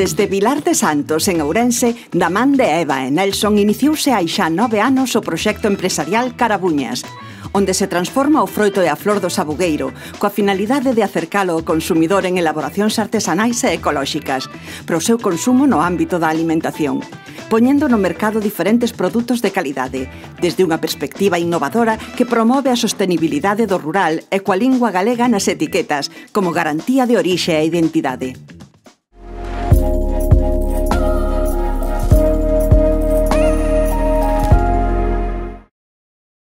Desde Vilar de Santos, en Ourense, da man de Eva e Nelson, iniciouse hai xa 9 anos o proxecto empresarial Carabuñas, onde se transforma o froito e a flor do sabugueiro, coa finalidade de acercalo ao consumidor en elaboracións artesanais e ecolóxicas, para o seu consumo no ámbito da alimentación, poñendo no mercado diferentes produtos de calidade, desde unha perspectiva innovadora que promove a sostenibilidade do rural e coa lingua galega nas etiquetas, como garantía de orixe e identidade.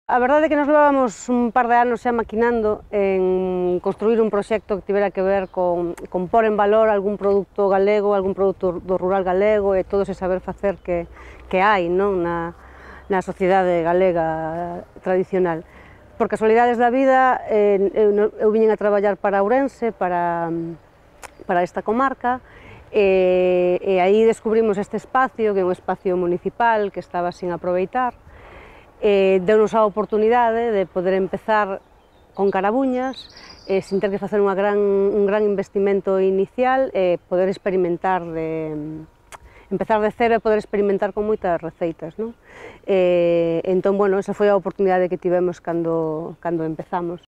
A verdade é que nos levábamos un par de anos xa maquinando en construir un proxecto que tivera que ver con pôr en valor algún produto galego, algún produto do rural galego e todo ese saber facer que hai na sociedade galega tradicional. Por casualidades da vida, eu viñen a traballar para Ourense, para esta comarca, e aí descubrimos este espacio, que é un espacio municipal que estaba sin aproveitar. Deu-nos a oportunidade de poder empezar con Carabuñas, sin ter que facer un gran investimento inicial, e poder experimentar, empezar de cero e poder experimentar con moitas receitas, non? Entón, bueno, esa foi a oportunidade que tivemos cando empezamos.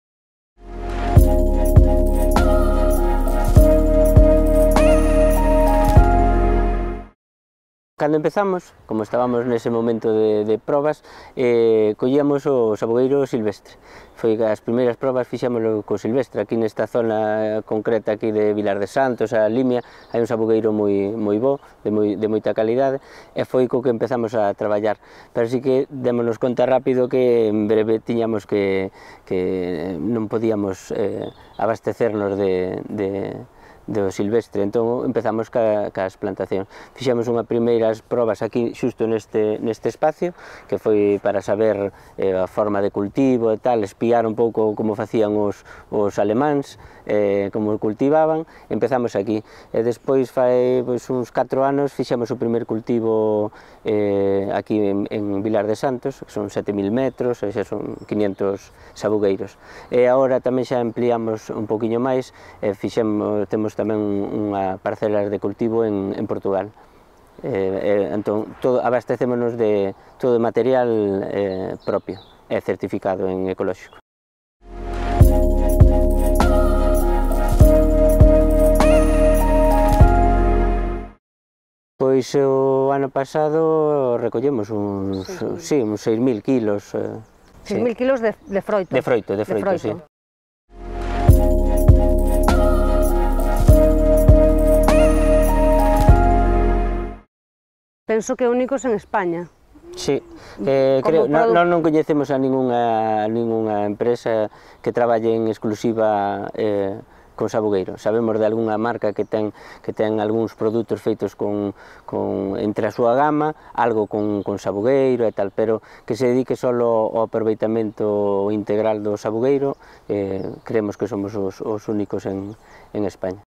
Cando empezamos, como estábamos nese momento de probas, collíamos o sabugueiro silvestre. Foi as primeiras probas fixámoslo co silvestre. Aquí nesta zona concreta aquí de Vilar de Santos, a Limia, hai un sabugueiro moi bo, de moita calidade, e foi co que empezamos a traballar. Pero sí que démonos conta rápido que en breve tiñamos que non podíamos abastecernos do silvestre, entón empezamos cas plantacións. Fixemos unhas primeiras probas aquí xusto neste espacio, que foi para saber a forma de cultivo e tal, espiar un pouco como facían os alemáns, como cultivaban, empezamos aquí. E despois fai uns 4 anos fixemos o primer cultivo aquí en Vilar de Santos, que son 7.000 metros, e xa son 500 sabugueiros. E agora tamén xa ampliamos un poquinho máis, temos tamén unha parcela de cultivo en Portugal. Entón, abastecémonos de todo o material propio e certificado en ecolóxico. Pois o ano pasado recollemos uns 6.000 kilos. 6.000 kilos de froito. De froito, sí. Penso que únicos en España. Sí, creo, non coñecemos a ningunha empresa que traballe en exclusiva con sabugueiro. Sabemos de algunha marca que ten algúns produtos feitos entre a súa gama, algo con sabugueiro e tal, pero que se dedique só ao aproveitamento integral do sabugueiro, creemos que somos os únicos en España.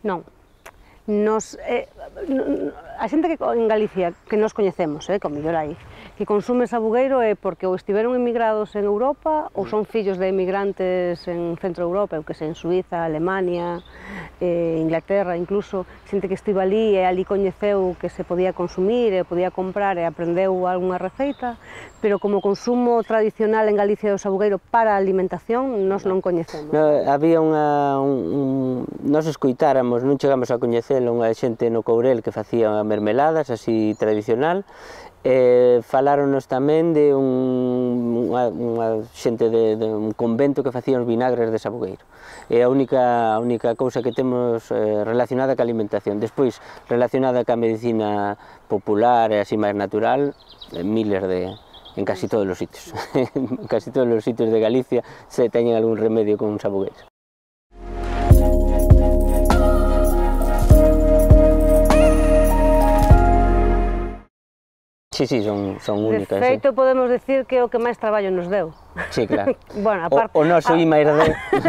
Non. A xente que en Galicia, que nos coñecemos, con mellor aí, que consume sabugueiro é porque ou estiveron emigrados en Europa ou son fillos de emigrantes en Centro Europa, eu que sei, en Suiza, Alemania, Inglaterra, incluso, xente que estivo ali e ali coñeceu que se podía consumir e podía comprar e aprendeu algunha receita, pero como consumo tradicional en Galicia do sabugueiro para a alimentación, nós non coñecemos. Había nós escoitáramos, non chegamos a coñecelo, unha xente no Courel que facía mermeladas así tradicional. Faláronos tamén de unha xente de un convento que facía os vinagres de sabugueiro. É a única cousa que temos relacionada ca alimentación. Despois, relacionada ca medicina popular e así máis natural, miles en casi todos os sitios. En casi todos os sitios de Galicia se teñen algún remedio con sabugueiros. Sí, son únicas. De feito, podemos decir que é o que máis traballo nos deu. Sí, claro. Bueno, o noso I+D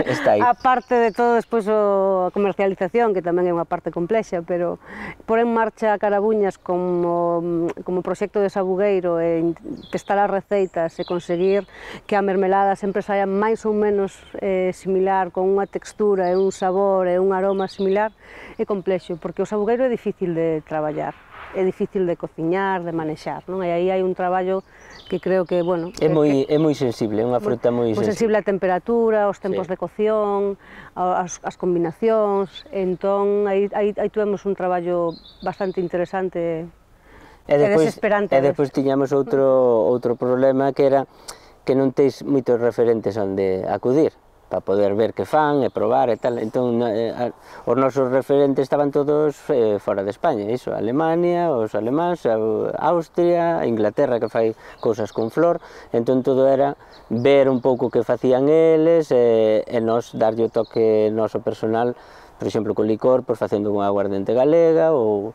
está aí. A parte de todo, despois a comercialización, que tamén é unha parte complexa, pero por en marcha Carabuñas como proxecto de sabugueiro e testar as receitas e conseguir que a mermelada sempre saia máis ou menos similar, con unha textura e un sabor e un aroma similar, é complexo, porque o sabugueiro é difícil de traballar, é difícil de cociñar, de manexar, non? E aí hai un traballo que creo que, bueno... É moi sensible, é unha fruta moi sensible á temperatura, aos tempos de cocción, as combinacións, entón aí tuvemos un traballo bastante interesante e desesperante. E despois tiñamos outro problema que era que non teis moitos referentes onde acudir para poder ver que fan e probar e tal, entón os nosos referentes estaban todos fora de España, iso, Alemania, os alemáns, Austria, Inglaterra que fai cousas con flor, entón todo era ver un pouco que facían eles e nos darlle o toque noso personal, por exemplo, con licor, pois facendo unha aguardente galega ou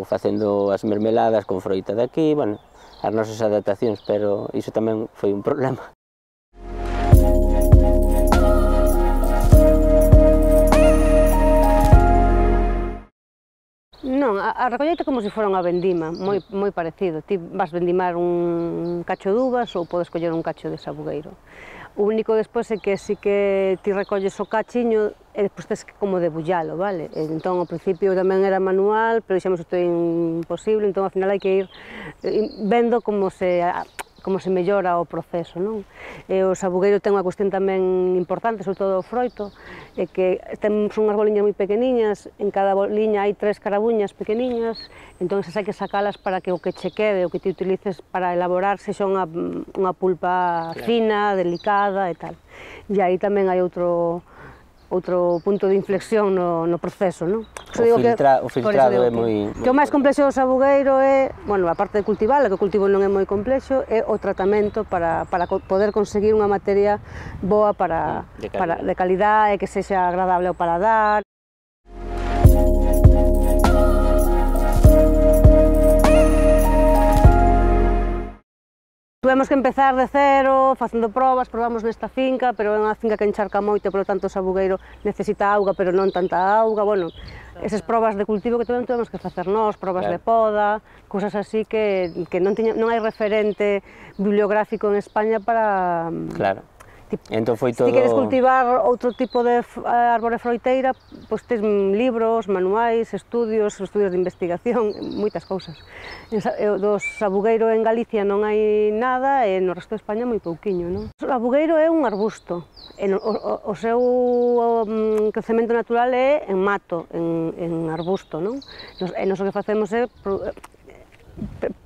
facendo as mermeladas con froita de aquí, bueno, as nosas adaptacións, pero iso tamén foi un problema. Non, a recolleita como se fora unha vendima, moi parecido. Ti vas vendimar un cacho de uvas ou podes coller un cacho de sabugueiro. O único despois é que si que ti recolles o cachiño e despois tens que como debullalo, vale? Entón, ao principio tamén era manual, pero dixemos isto é imposible, entón ao final hai que ir vendo como se mellora o proceso, non? E o sabugueiro ten unha cuestión tamén importante, sobre todo o froito, é que temos unhas boliñas moi pequeniñas, en cada boliña hai 3 carabuñas pequeniñas, entón hai que sacalas para que o que che quede, o que ti utilices para elaborar, sexa unha pulpa fina, delicada e tal. E aí tamén hai outro punto de inflexión no proceso, non? O filtrado é moi... Que o máis complexo do sabugueiro é, bueno, a parte de cultivar, que o cultivo non é moi complexo, é o tratamento para poder conseguir unha materia boa de calidade e que sexa agradable ao paladar. Tuvemos que empezar de cero, facendo probas, probamos nesta finca, pero é unha finca que encharca moito, polo tanto o sabugueiro necesita auga, pero non tanta auga, bueno, esas probas de cultivo que tuvemos que facer nós, probas de poda, cousas así que non hai referente bibliográfico en España para... Claro. Entón foi todo... Se queres cultivar outro tipo de árbore froiteira, pois tes libros, manuais, estudios de investigación, moitas cousas. Do sabugueiro en Galicia non hai nada e no resto de España moi pouquiño, non? O sabugueiro é un arbusto, o seu crecemento natural é en mato, en arbusto, non? E nós o que facemos é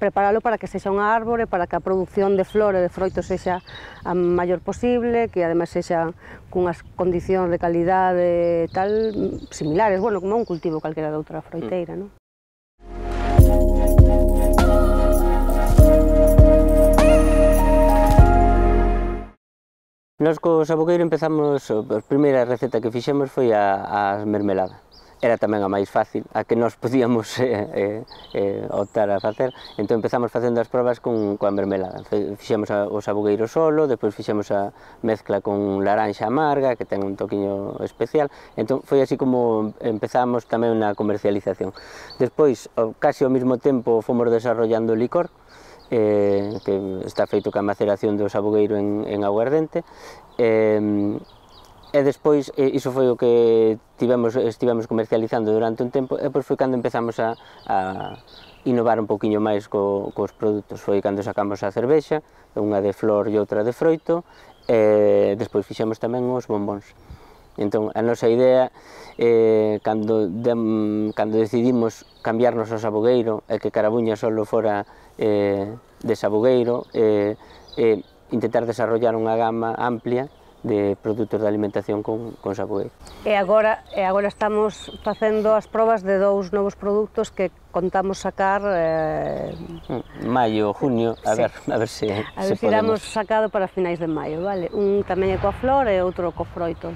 preparalo para que sexa unha árbore, para que a produción de flor e de froito sexa a maior posible, que ademais sexa cunhas condicións de calidade tal similares, bueno, como un cultivo calquera de outra froiteira, non? Nós co sabugueiro empezamos, a primeira receta que fixemos foi a mermelada. Era tamén a máis fácil, a que nós podíamos optar a facer, entón empezamos facendo as probas coa mermelada. Fixemos o sabugueiro solo, depois fixemos a mezcla con laranxa amarga, que ten un toquiño especial, entón foi así como empezamos tamén na comercialización. Despois, casi ao mesmo tempo, fomos desarrollando o licor, que está feito ca maceración do sabugueiro en aguardente, e despois, iso foi o que estivemos comercializando durante un tempo, e depois foi cando empezamos a innovar un poquinho máis cos produtos. Foi cando sacamos a cervexa, unha de flor e outra de froito, e despois fixemos tamén os bombóns. Entón, a nosa idea, cando decidimos cambiarnos ao sabugueiro, e que Carabuñas só fora de sabugueiro, intentar desarrollar unha gama amplia de produtos de alimentación con sabugueiro. E agora estamos facendo as probas de 2 novos produtos que contamos sacar... Maio, junio, a ver se podemos... A ver se iramos sacado para finais de maio, vale? Un tamén é coa flor e outro co froito.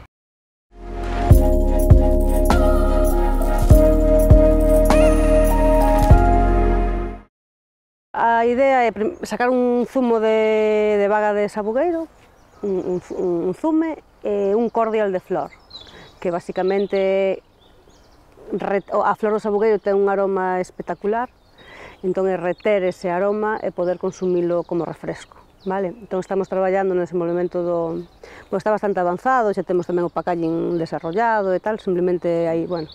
A idea é sacar un zumo de baga de sabugueiro, un zume e un cordial de flor, que basicamente a flor do sabugueiro ten un aroma espectacular, entón é reter ese aroma e poder consumilo como refresco. Vale? Entón estamos traballando nese movimento do... Bueno, está bastante avanzado, xa temos tamén o packaging desarrollado e tal, simplemente aí, bueno...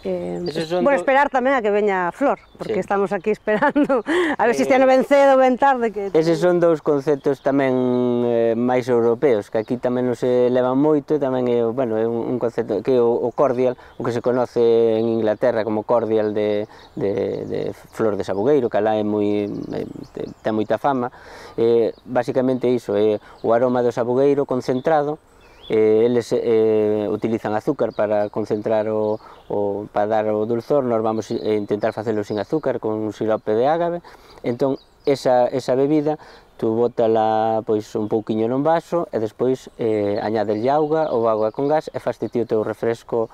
Bueno, esperar tamén a que veña a flor, porque estamos aquí esperando a ver se este ano ben cedo ou ben tarde. Eses son dous conceptos tamén máis europeos, que aquí tamén non se levan moito, tamén é, bueno, é un concepto que é o cordial, o que se conoce en Inglaterra como cordial de flor de sabugueiro, que alá é ten moita fama. Basicamente iso, é o aroma do sabugueiro concentrado. Eles utilizan azúcar para concentrar para dar o dulzor. Nós vamos intentar facelo sin azúcar, con un sirope de ágave. Entón, esa bebida, tú bótala pois un pouquiño nun vaso e despois añádelle auga ou auga con gas e faste ti o teu refresco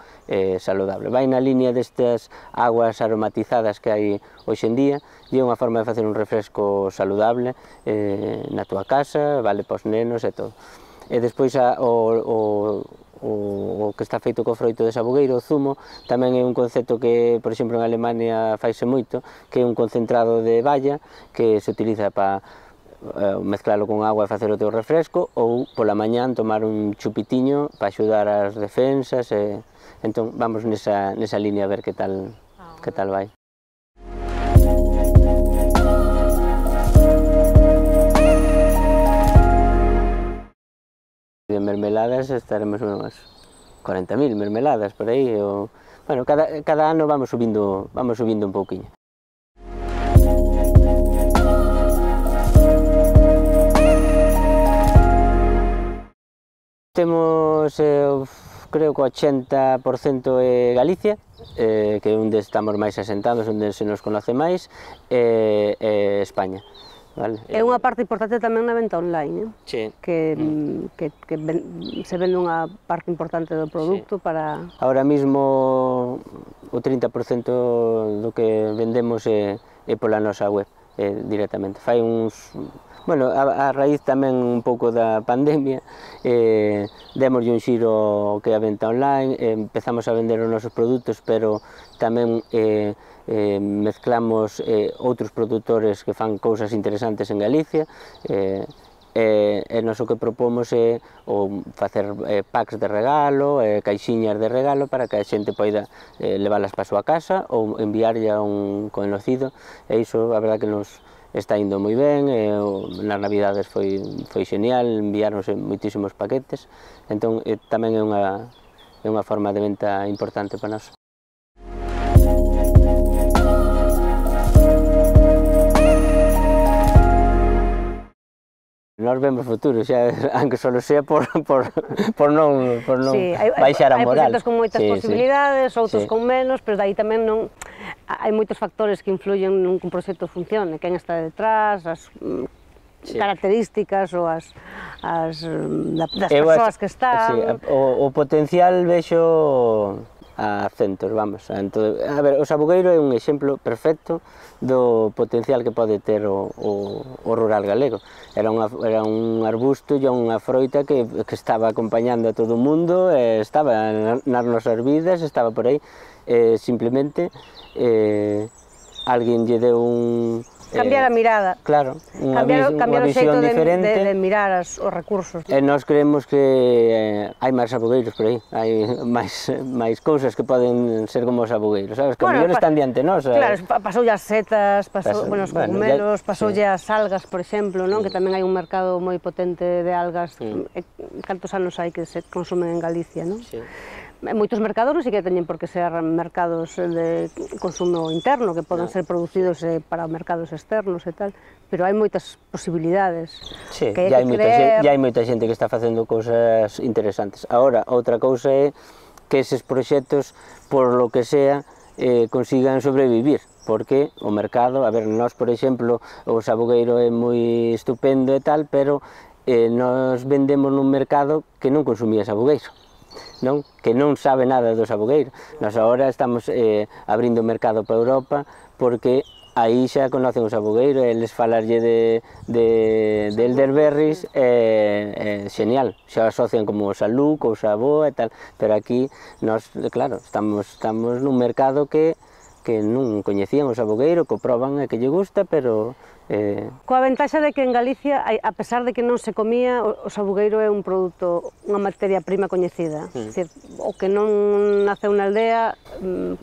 saludable. Vai na línea destas aguas aromatizadas que hai hoxe en día, e é unha forma de facer un refresco saludable na túa casa, vale para os nenos e todo. E despois o que está feito co froito de sabugueiro, o zumo, tamén é un concepto que, por exemplo, en Alemania faise moito, que é un concentrado de balla que se utiliza para mezclalo con agua e facer o teu refresco, ou pola mañán tomar un chupitiño para axudar ás defensas. Entón vamos nesa línea a ver que tal vai. De mermeladas estaremos unhas 40.000 mermeladas por aí. Bueno, cada ano vamos subindo un pouquiño. Temos, creo que o 80% é Galicia, que é onde estamos máis asentados, onde se nos conoce máis, e España. Vale. É unha parte importante tamén na venta online, que se vende unha parte importante do produto para... Ahora mismo o 30% do que vendemos é pola nosa web directamente. Fai uns... Bueno, a raíz tamén un pouco da pandemia, demoslle un xiro que a venta online, empezamos a vender os nosos produtos, pero tamén mezclamos outros produtores que fan cousas interesantes en Galicia, e nos o que propomos é facer packs de regalo, caixiñas de regalo para que a xente poida leválas para a súa casa ou enviarlle a un conocido, e iso a verdade que nos está indo moi ben. Nas navidades foi genial, enviáronse moitísimos paquetes, entón tamén é unha forma de venta importante para nós. Nós vemos futuro, xa, aunque só sea por non baixar a moral. Hai proxectos con moitas posibilidades, outros con menos, pero daí tamén non... Hai moitos factores que influyen nun que un proxecto funcione, quen está detrás, as características ou das persoas que están... O potencial vexo a centos, vamos. A ver, o sabugueiro é un exemplo perfecto do potencial que pode ter o rural galego. Era un arbusto e unha froita que estaba acompañando a todo o mundo, estaba nas nosas vidas, estaba por aí. Simplemente alguén lle deu un... Cambiar a mirada. Claro, unha o visión xeito diferente. de mirar os recursos. E nós creemos que hai máis sabugueiros por aí, hai máis cousas que poden ser como os sabugueiros, sabes? Que o mellor están diante nós. Claro, pasoulle as setas, os cogumelos, pasoulle as algas, por exemplo, que tamén hai un mercado moi potente de algas. Cantos anos hai que se consumen en Galicia, non? Moitos mercados non sei que teñen por que ser mercados de consumo interno, que poden ser producidos para mercados externos e tal, pero hai moitas posibilidades. Sí, e hai moita xente que está facendo cousas interesantes. Agora, outra cousa é que eses proxectos, por lo que sea, consigan sobrevivir, porque o mercado, a ver, nós, por exemplo, o sabugueiro é moi estupendo e tal, pero nós vendemos nun mercado que non consumía sabugueiro, que non sabe nada do sabugueiro. Nós agora estamos abrindo mercado para Europa porque aí xa conocen o sabugueiro, eles falarlle de elderberries, xenial, xa asocian como salú, cousa boa e tal, pero aquí, nós, claro, estamos nun mercado que non coñecían o sabugueiro, que o proban e que lle gusta, pero... Coa ventaxa de que en Galicia, a pesar de que non se comía, o sabugueiro é un produto, unha materia prima coñecida. É dicir, o que non naceu na aldea,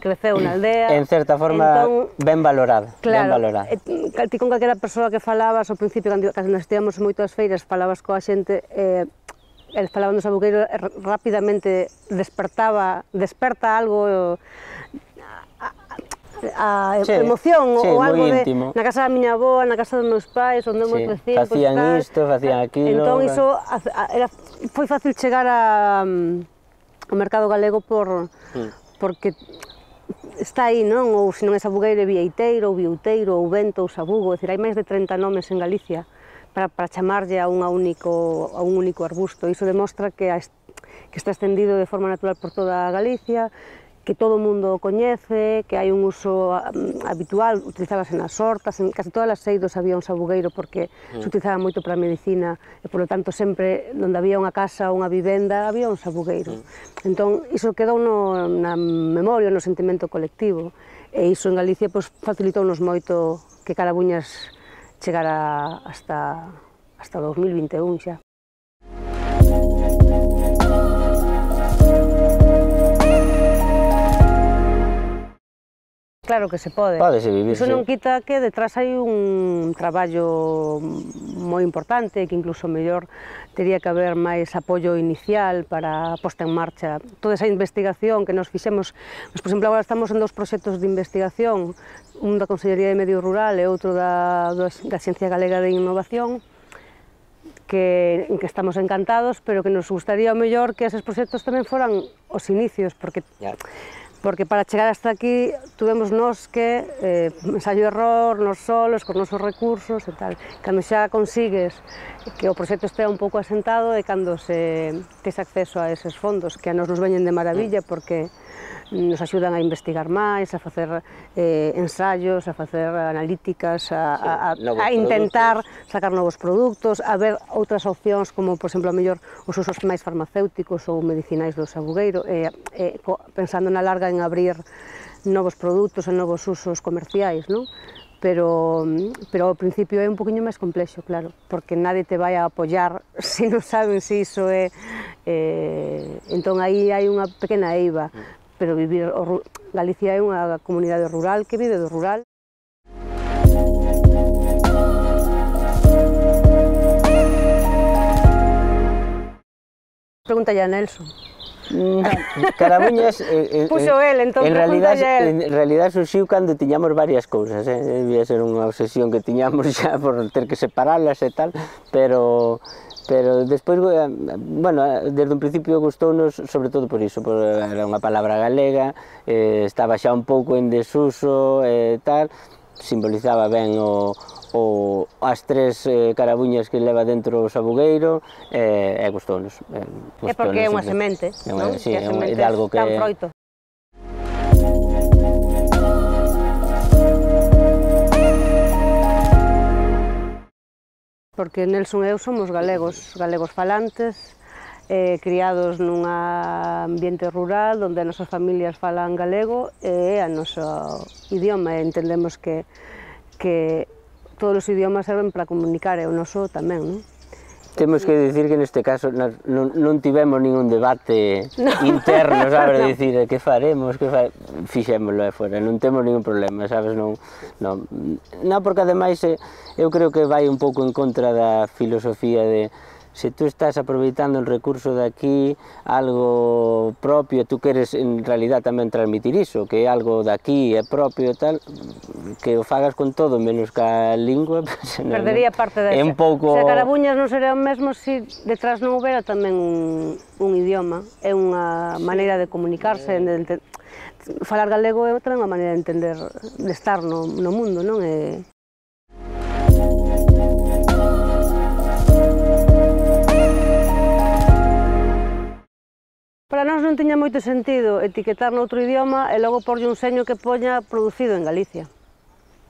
creceu na aldea. En certa forma, ben valorada. Claro, ti con calquera persoa que falabas, ao principio, cando nos estivamos en moitas feiras, falabas coa xente, eles falaban do sabugueiro, rapidamente desperta algo... a emoción ou algo de na casa da miña avó, na casa dos meus pais, onde moi crecín, facían isto, facían aquilo. Entón iso foi fácil chegar ao mercado galego porque está aí, non? Ou se non é sabugueiro, é vieiteiro, ou viuteiro, ou vento, ou sabugo, é dicir, hai máis de 30 nomes en Galicia para chamarlle a un único arbusto. Iso demostra que está extendido de forma natural por toda Galicia, que todo o mundo o coñece, que hai un uso habitual, utilizábase nas hortas, en casi todas as eidos había un sabugueiro porque se utilizaba moito para a medicina e, polo tanto, sempre onde había unha casa ou unha vivenda había un sabugueiro. Entón, iso quedou na memoria, no sentimento colectivo, e iso en Galicia facilitounos moito que Carabuñas chegara hasta 2021 xa. Claro que se pode. Pódese vivir, iso non quita que detrás hai un traballo moi importante, que incluso mellor teria que haber máis apoio inicial para a posta en marcha. Toda esa investigación que nos fixemos, por exemplo, agora estamos en 2 proxectos de investigación, un da Consellería de Medio Rural e outro da Axencia Galega de Innovación, en que estamos encantados, pero que nos gustaría o mellor que eses proxectos tamén foran os inicios, porque para chegar hasta aquí tuvemos nós que ensayo e error, nos solos, con nosos recursos e tal. Cando xa consigues que o proxecto estea un pouco asentado é cando tes acceso a eses fondos, que a nos veñen de maravilla porque nos axudan a investigar máis, a facer ensaios, a facer analíticas, a intentar sacar novos produtos, a ver outras opcións como, por exemplo, a mellor os usos máis farmacéuticos ou medicinais do sabugueiro, pensando na larga en abrir novos produtos e novos usos comerciais, non? Pero ao principio é un poquinho máis complexo, claro, porque nadie te vai a apoiar se non saben se iso é... Entón aí hai unha pequena eiva, pero Galicia é unha comunidade rural que vive do rural. Pregúntalle a Nelson. Carabuñas, puxo el, entón pregúntalle a el. En realidad surxiu cando tiñamos varias cousas, debía ser unha obsesión que tiñamos xa por ter que separalas e tal, pero despois, bueno, desde un principio gustounos, sobre todo por iso, era unha palabra galega, estaba xa un pouco en desuso e tal, simbolizaba ben as 3 carabuñas que leva dentro o sabugueiro, e gustounos. É porque é unha semente, non? Sí, é de algo que... Dan froito. Porque Nelson e eu somos galegos falantes, criados nun ambiente rural onde as nosas familias falan galego e é o noso idioma, e entendemos que todos os idiomas serven para comunicar, e o noso tamén, non? Temos que dicir que neste caso non tivemos ningún debate interno, sabes, de dicir que faremos, fixémoslo e fora, non temos ningún problema, sabes, non, porque ademais eu creo que vai un pouco en contra da filosofía de se tú estás aproveitando un recurso de aquí, algo propio, tú queres en realidad tamén transmitir iso, que é algo de aquí, é propio e tal, que o fagas con todo menos ca lingua, perdería parte desa. É un pouco... Se a Carabuñas non sería o mesmo se detrás non houbera tamén un idioma, é unha maneira de comunicarse, falar galego é tamén unha maneira de entender, de estar no mundo, non? Para nós non tiña moito sentido etiquetar noutro idioma e logo porlle un seño que poña producido en Galicia.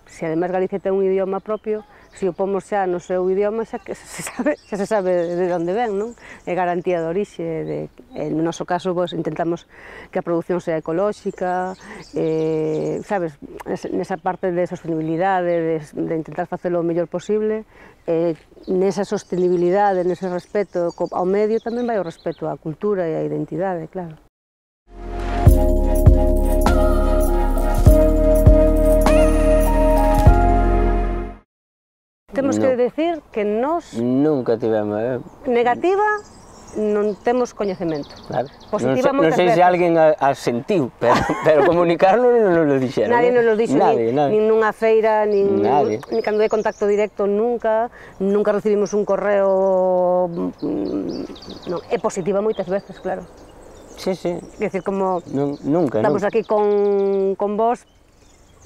Se ademais Galicia ten un idioma propio, se o pomos xa no seu idioma xa se sabe de onde ven, non? É garantía de orixe, no noso caso intentamos que a produción sea ecolóxica, sabes, nesa parte de sostenibilidade, de intentar facelo o mellor posible, nesa sostenibilidade, nese respeto ao medio tamén vai o respeto á cultura e á identidade, claro. Temos que decir que nós... Nunca tivemos... Negativa, non temos coñecemento. Claro. Positiva moitas Non sei veces. se alguén a sentiu, pero comunicarlo non nos dixeron. Nadie nos lo dixo, nin nunha feira, nin cando hai contacto directo, nunca recibimos un correo... É positiva moitas veces, claro. Sí, sí. É dicir, como... Nunca, estamos aquí con vos,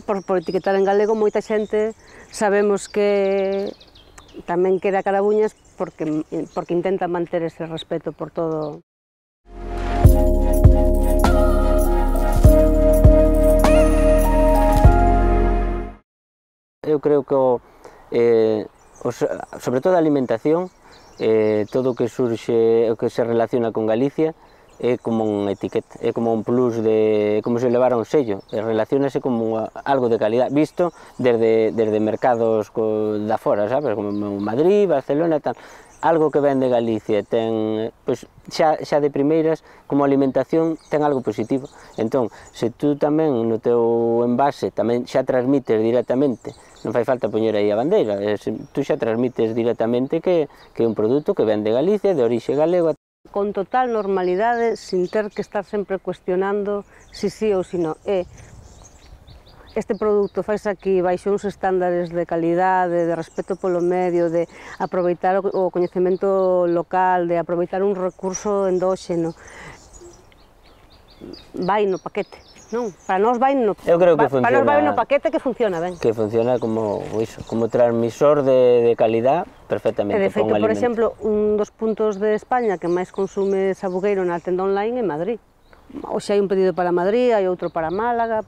por etiquetar en galego, moita xente sabemos que tamén queda Carabuñas porque intenta manter ese respeto por todo. Eu creo que, sobre todo a alimentación, todo o que surxe, o que se relaciona con Galicia, é como un etiqueta, é como un plus, como se levara un sello, relacionase como algo de calidad, visto desde mercados da fora, sabes, como Madrid, Barcelona e tal, algo que ven de Galicia, ten, pois, xa de primeiras, como alimentación, ten algo positivo. Entón, se tú tamén no teu envase tamén xa transmites directamente, non fai falta poñer aí a bandeira, tú xa transmites directamente que é un produto que ven de Galicia, de orixe galego. Con total normalidade, sin ter que estar sempre cuestionando si sí ou si non. Este produto fais aquí baixo uns estándares de calidade, de respeto polo medio, de aproveitar o coñecemento local, de aproveitar un recurso endóxeno. Vai no paquete, non? Para nós vai no paquete que funciona ben. Que funciona como transmisor de calidad perfectamente. E de feito, por exemplo, un dos puntos de España que máis consume sabugueiro na tenda online é Madrid. Hoxe hai un pedido para Madrid, hai outro para Málaga.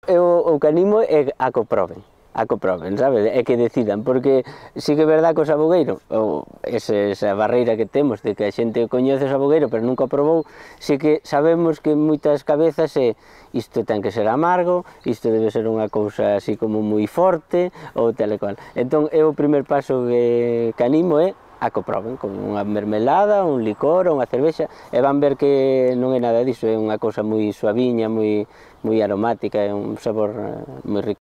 O que animo é a que proben, sabes? É que decidan, porque sí que é verdad que o sabugueiro, esa barreira que temos de que a xente coñece o sabugueiro pero nunca o probou, sí que sabemos que moitas cabezas isto ten que ser amargo, isto debe ser unha cousa así como moi forte, ou tal e cual. Entón, o primer paso que animo é a que o proben, con unha mermelada, un licor ou unha cervexa, e van ver que non é nada diso, é unha cousa moi suaviña, moi aromática, é un sabor moi rico.